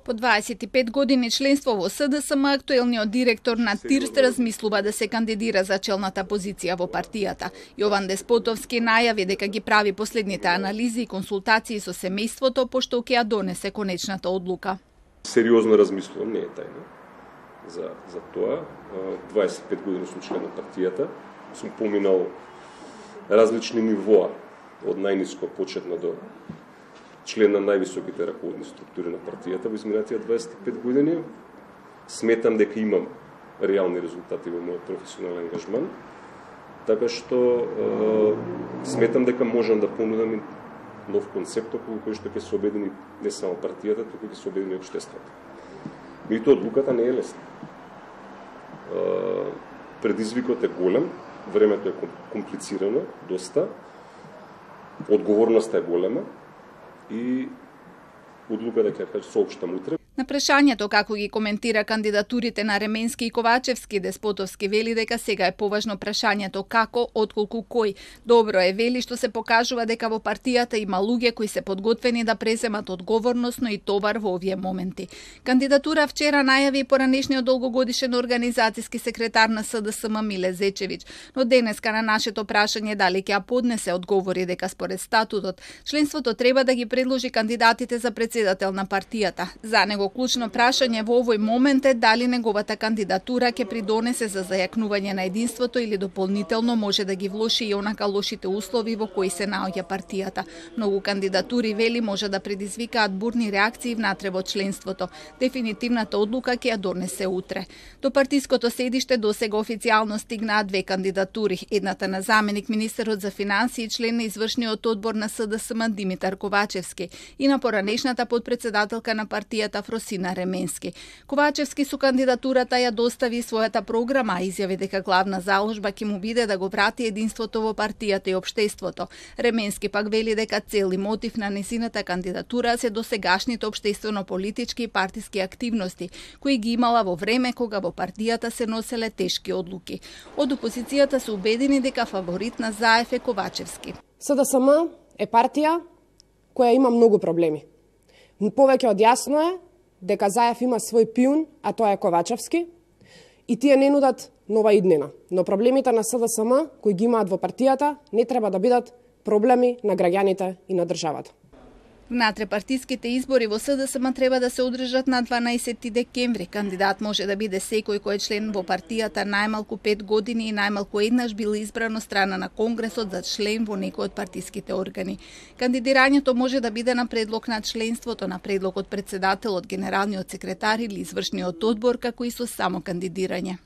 По 25 години членство во СДСМ, актуелниот директор на ТИРСТ размислува да се кандидира за челната позиција во партијата. Јован Деспотовски најави дека ги прави последните анализи и консултации со семејството, пошто ќе ја донесе конечната одлука. Сериозно размислувам, не е тајна за тоа. 25 години сум член на партијата, сум поминал различни нивоа, од најниско почетно до член на највисоките раководни структури на партијата во изминатите 25 години. Сметам дека имам реални резултати во мојот професионален ангажман, така што сметам дека можам да понудам нов концепт околу кој што ќе се обедини не само партијата, туку ќе се обедини општеството. Меѓутоа одлуката не е лесна. Предизвикот е голем, времето е комплицирано, доста, одговорноста е голема и одлуката ќе соопштам утре. На прашањето како ги коментира кандидатурите на Ременски и Ковачевски, Деспотовски вели дека сега е поважно прашањето како, отколку кој. Добро е, вели, што се покажува дека во партијата има луѓе кои се подготвени да преземат одговорност, но и товар во овие моменти. Кандидатура вчера најави поранешниот долгогодишен организацијски секретар на СДСМ Миле Зечевиќ, но денеска на нашето прашање дали ќе ја поднесе одговори дека според статутот членството треба да ги предложи кандидатите за председател на партијата. За него клучно прашање во овој момент е дали неговата кандидатура ќе придонесе за зајакнување на единството или дополнително може да ги влоши и онака лошите услови во кои се наоѓа партијата. Многу кандидатури, вели, може да предизвикаат бурни реакции внатре во членството. Дефинитивната одлука ќе ја донесе утре. До партиското седиште досега официјално стигнаа две кандидатури. Едната на заменик министерот за финансии и член на извршниот одбор на СДСМ Димитар Ковачевски и на поранешната подпредседателка на партијата Фросина Ременски. Ковачевски со кандидатурата ја достави својата програма, изјави дека главна заложба ќе му биде да го врати единството во партијата и општеството. Ременски пак вели дека цел и мотив на незината кандидатура се досегашните општествено-политички и партиски активности, кои ги имала во време кога во партијата се носеле тешки одлуки. Од опозицијата се убедени дека фаворит на ЗАЕФ е Ковачевски. СДСМ е партија која има многу проблеми. Повеќе од јасно е дека ЗАЕФ има свој пиун, а тоа е Ковачевски, и тие не нудат нова иднина. Но проблемите на СДСМ, кои ги имаат во партијата, не треба да бидат проблеми на граѓаните и на државата. Внатре партиските избори во СДСМ треба да се одржат на 12 декември. Кандидат може да биде секој кој е член во партијата најмалку 5 години и најмалку еднаш бил избран од страна на Конгресот за член во некој од партиските органи. Кандидирањето може да биде на предлог на членството, на предлог од председателот, генералниот секретар или извршниот одбор, како и со само кандидирање.